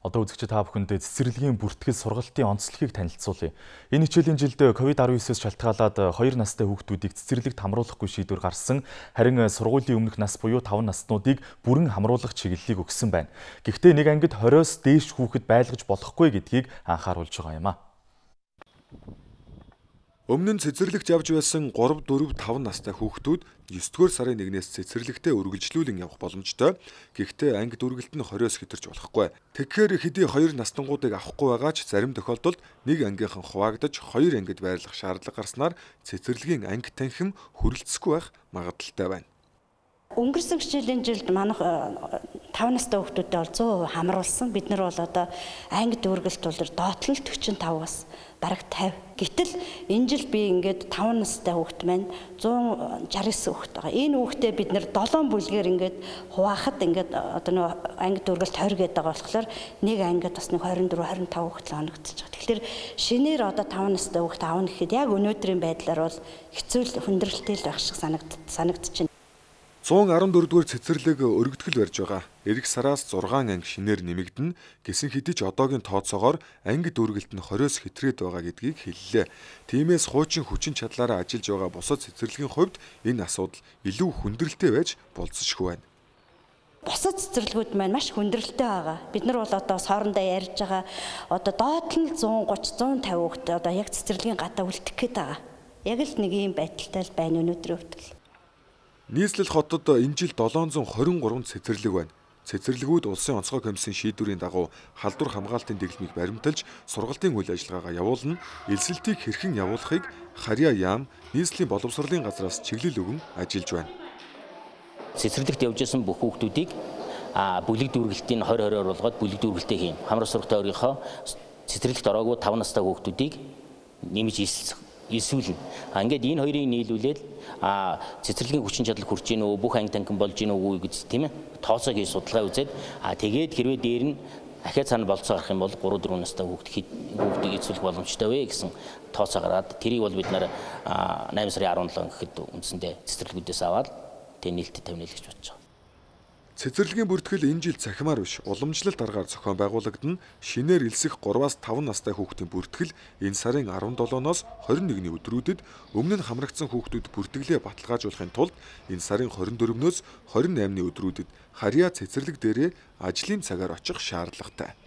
Одоо үзэгчид та бүхэнд цэцэрлэгийн бүртгэл сургалтын онцлогийг танилцуулъя. Энэ хичээлийн жилд COVID-19-с шалтгаалаад 2 настай хүүхдүүдийг цэцэрлэгт хамруулахгүй шийдвэр гарсан. Харин сургуулийн өмнөх нас буюу 5 наснуудыг бүрэн хамруулах чиглэлийг өгсөн байна. Гэхдээ нэг ангид 20-оос дээш хүүхэд байлгаж болохгүй гэдгийг анхааруулж байгаа юм а. Өмнө нь цэцэрлэгт явж байсан 3, 4, 5 настай хүүхдүүд 9-р сарын 1-ээс цэцэрлэгтээ үргэлжлүүлэн явах боломжтой. Гэхдээ анги дүргэлт нь 20-оос хэтэрч болохгүй. Тэгэхээр хэдий 2 настангуудыг авахгүй байгаа ч зарим тохиолдолд нэг ангийнхан хуваагдаж 2 ангид байрлах шаардлага гарснаар цэцэрлэгийн анги танхим хүрэлцэхгүй байх магадлалтай байна. Өнгөрсөн хичээлийн жилд манайх 5 настай хүүхдүүдэд бол 100% хамруулсан. Бид нар бол одоо анги дүүргэлт бол доотлол 45-аас бараг 50. Гэтэл энэ жил би ингээд 5 настай хүүхд маань 169 хүүхд байгаа. Энэ хүүхдээ бид нар 7 бүлгээр ингээд хуваахад ингээд одоо нэг анги дүүргэлт 20 гэдэг байгаа болохоор нэг ангид бас нэг 24, 25 хүүхд л оногдож байгаа. Тэгэхээр шинээр одоо 5 настай хүүхд аавна гэхэд яг өнөөдрийн байдлаар бол хэцүү хүндрэлтэй л байх шиг санагдчихэв. 114-р цэцэрлэг өргөдгөл барьж байгаа. Эх сараас 6 анги шинээр нэмэгдэнэ. Гэсэн хэдий ч одоогийн тооцоогоор анги дүүргэлт нь 20-оос хэтрээд байгаа гэдгийг хэллээ. Тиймээс хуучин хүчин чадлаараа ажиллаж байгаа бусад цэцэрлэгийн хувьд энэ асуудал илүү хүндрэлтэй байж болцсошгүй байна. Бусад цэцэрлэгүүд маань маш хүндрэлтэй байгаа. Бид нар бол одоо хоорондоо ярьж байгаа одоо доод нь 130, 150 хүүхэд одоо яг цэцэрлэгийн гадаа үлдэх гээд байгаа. Яг л нэг ийм байдалтай л байна өнөөдрийн хувьд. Нийслэл хотод энэ жил 723 цэцэрлэг байна. Цэцэрлэгүүд улсын онцгой комиссийн шийдвэрийн дагуу халдвар хамгаалтын дэглэмийг баримталж сургалтын үйл ажиллагаагаа явуулна. Элсэлтийг хэрхэн явуулахыг Харьяа яам нийслэлийн боловсролын газраас чиглэл өгөн ажиллаж байна. Цэцэрлэгт явж исэн бүх хүүхдүүдийг бүлэг дүүргэлтийн 2020-оор болгоод бүлэг дүүргэлтээ хийн. Хамраа сургалтын оргийнхоо цэцэрлэгт ороогүй 5 настай хүүхдүүдийг нэмж эсвэлнэ. Ингээд энэ хоёрыг нийлүүлээд цэцэрлэгийн хүчин чадал хүрч ийн үү, бүх анги танхим болж ийн үгүй гэж тийм ээ тооцоог хийж судалгаа үзээд тэгээд хэрвээ дээр нь ахиад цаана болцоо гарах юм бол 3, 4 настай хүүхдийг эзүүлэх боломжтой вэ гэсэн тооцоо гараад тэрийг бол бид нар 8 сарын 17 гэхэд үндсэндээ цэцэрлэгүүдээс аваад тэг нээлттэй тавина л гэж бодож байгаа. Цэцэрлэгийн бүртгэл энэ жил цахимаар биш, уламжлалт аргаар зохион байгуулагдана. Шинээр элсэх 3-аас 5 настай хүүхдийн бүртгэл энэ сарын 17-ноос 21-ний өдрүүдэд өмнө нь хамрагдсан хүүхдүүд бүртгэлээ баталгаажуулахын тулд энэ сарын 24-ноос 28-ны өдрүүдэд Харьяа цэцэрлэг дээрээ ажлын цагаар очих шаардлагатай.